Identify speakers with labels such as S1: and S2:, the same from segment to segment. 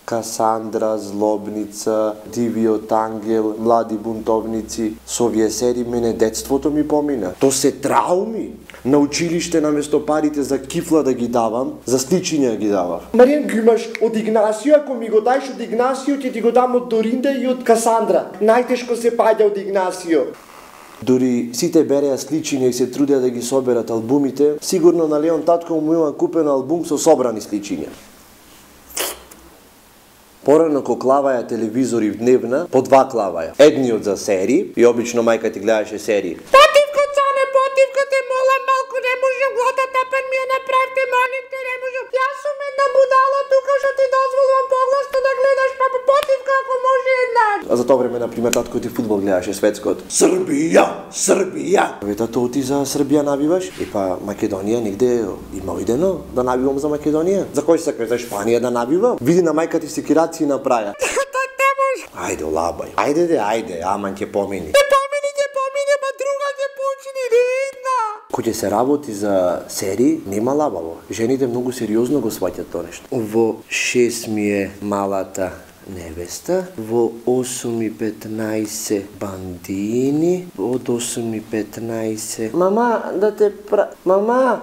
S1: Касандра, Злобница, Дивиот ангел, Млади бунтовници. Со овие серии мене детството ми помина. То се трауми. На училиште наместо парите за кифла да ги давам, за сличиња ги давав. Маријан, ги имаш од Игнасио, ако ми го даеш од Игнасио, ќе ти го дам од Доринда и од Касандра. Најтешко се паѓа од Игнасио. Дури сите береа сличиња и се трудеа да ги соберат албумите, сигурно на Леон татко му има купен албум со собрани сличиња. Порано ко клаваја телевизори в дневна, по 2 клаваја. Едниот за серии, и обично мајка ти гледаше серии. Потивко, цане, потивко, те молам малку, не можам глотата, пен ми ја направте, молим те, не можам. Јас сум една будала тука, што ти дозволувам погласно да гледаш, па потивко, ако може еднаш. А за тоа време, например, татко ти фудбал гледаше светскот. Србија, Србија. Ве тато ти за Србија навиваш? И па Македонија негде има идено да навивам за Македонија. За кој сакаш, за Шпанија да навивам? Види на мајка ти секираци направја. Ајде, лабај. Ајде, аман ќе помини. Ќе помини, ба друга ќе почини, редна. Кој ќе се работи за серии, нема лабаво. Жените многу сериозно го сваќат тоа нешто. Во 6 ми е малата невеста, во 8:15 бандини, од 8:15... Мама, да те Мама!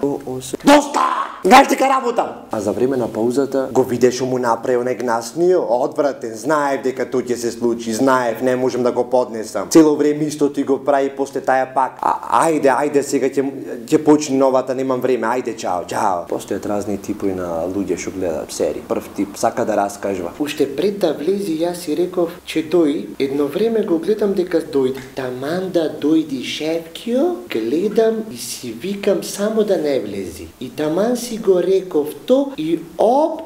S1: Доста! Гај дека работам! А за време на паузата го видеш му направил негнаснио, одвратен, знаев дека тоа ќе се случи, знаев, не можам да го поднесам. Цело време исто ти го прави после таја пак. Ајде, сега ќе почне новата, немам време, ајде, чао. Постојат разни типови на луѓе што гледаат серии. Прв тип сака да раскажува. Уште пред да влези јас си реков, че дој, едно време го гледам дека дојде. Таман да дојди Шефкио, гледам и си викам само да не влези. И таман си го реков то и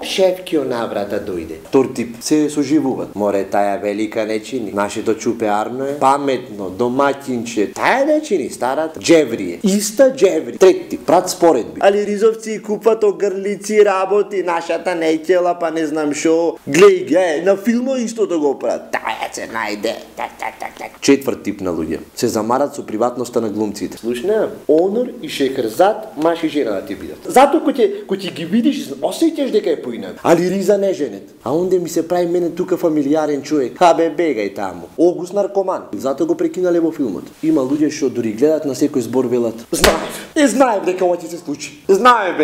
S1: Шефкио наврата дојде. Тор тип се соживуваат. Море, таја велика не чини. Нашето чупе Арно е паметно, домаќинче. Таја не чини, старата джеври е. Иста джеври. Трети тип, прат споредби. Али ризовци купат огрлици, работи, нашата неќела, па не знам шо. Глеј, на филмо исто да го прават. Таја се најде. Четврт тип на луѓе. Се замарат со приватноста на глумците. Слушна, Онор и Шехерзад, маш и жена да ти бидат. Затоа кој ти ги видиш, осеќаш дека е поинак. Али Риза не женет. А онде ми се прави мене тука фамилиарен човек. Бе, бегај таму. Огус наркоман. Затоа го прекинале во филмот. Има луѓе што дури гледат на секој збор велат. Знаев дека ова ќе се случи. Знаев.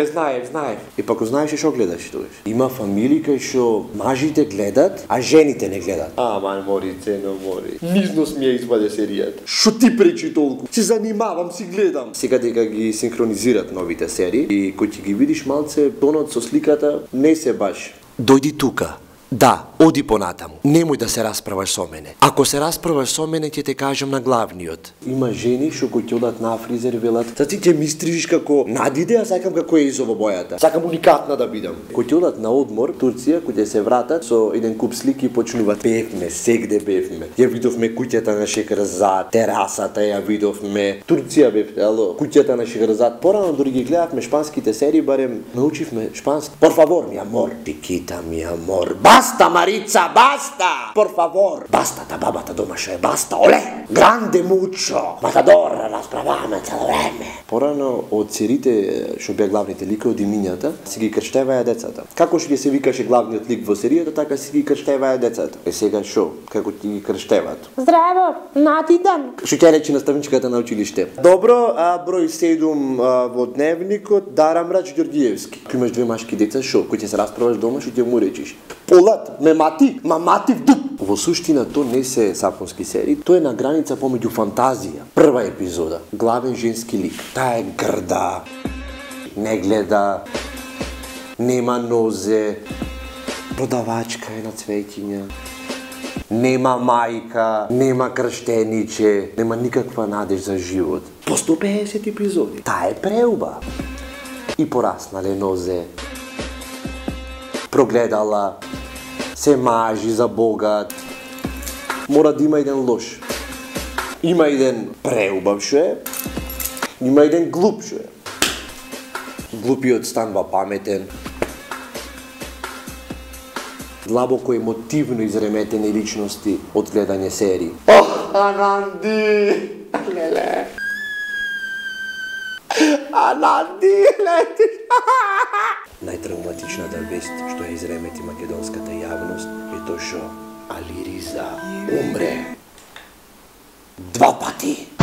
S1: И пак знаеш што гледаш тогаш. Има фамилии кај што мажите гледат, а жените не гледат. Аман, мори, цено, мори. Низнос ми ја изваде серијата. Шо ти пречи толку? Се занимавам, си гледам. Сега дека ги синхронизират новите серии и кој ќе ги видиш малце тонот со сликата, не се баш. Дојди тука. Да, оди понатаму. Немој да се расправаш со мене. Ако се расправаш со мене, ќе те кажам на главниот. Има жени што кои ќе одат на фризер велат: "Са ти ќе ми стрижиш како Надиде, а сакам како Езово бојата. Сакам уникатна да бидам." Кои ќе одат на одмор Турција, кои ќе се вратат со еден куп слики и почнуваат: "Бевме, сегде бевме. Ја видовме куќата на Шехерзад, терасата ја видовме. Турција бевте, ало, куќата на Шехерзад." Порано дури ги гледавме шпанските серии, барем научивме шпански. Por favor, mi amor. Chiquita, mi amor. Basta, Maritza, basta! Por favor! Basta, ta бабата домаше, basta, оле! Grande mucho! Matador, расправаме цело време! Порано од сериите што беа главните ликови од имињата, си ги крштеваја децата. Како што ги се викаше главниот лик во серијата, така си ги крштеваја децата. Сега шо? Како ти ги крштеваат? Здраво, Надидан! Што ќе речи наставничката на училиште? Добро, број 7 во дневникот, Дарамрач Ѓорѓиевски. Ако имаш 2 машки деца, шо? Кој ќе се расправаш дома, што ќе му речиш? Полат, мамати в дуп. Во суштина то не се сапонски серии, тоа е на граница помеѓу фантазија. Прва епизода, главен женски лик. Таа е грда, не гледа, нема нозе, продавачка е на цвеќиња, нема мајка, нема крштениче, нема никаква надеж за живот. По 150 епизоди. Таа е преуба. И пораснале нозе, прогледала, се мажи за богат. Мора да има еден лош. Има еден преубав шо е, има еден глуп шо е. Глупиот станува паметен. Длабоко емотивно изреметени личности од гледање серии. Ананди! Леле! Ананди! Најтравматичната вест што ја изремети македонската јавност е тоа што Алириза умре 2 пати.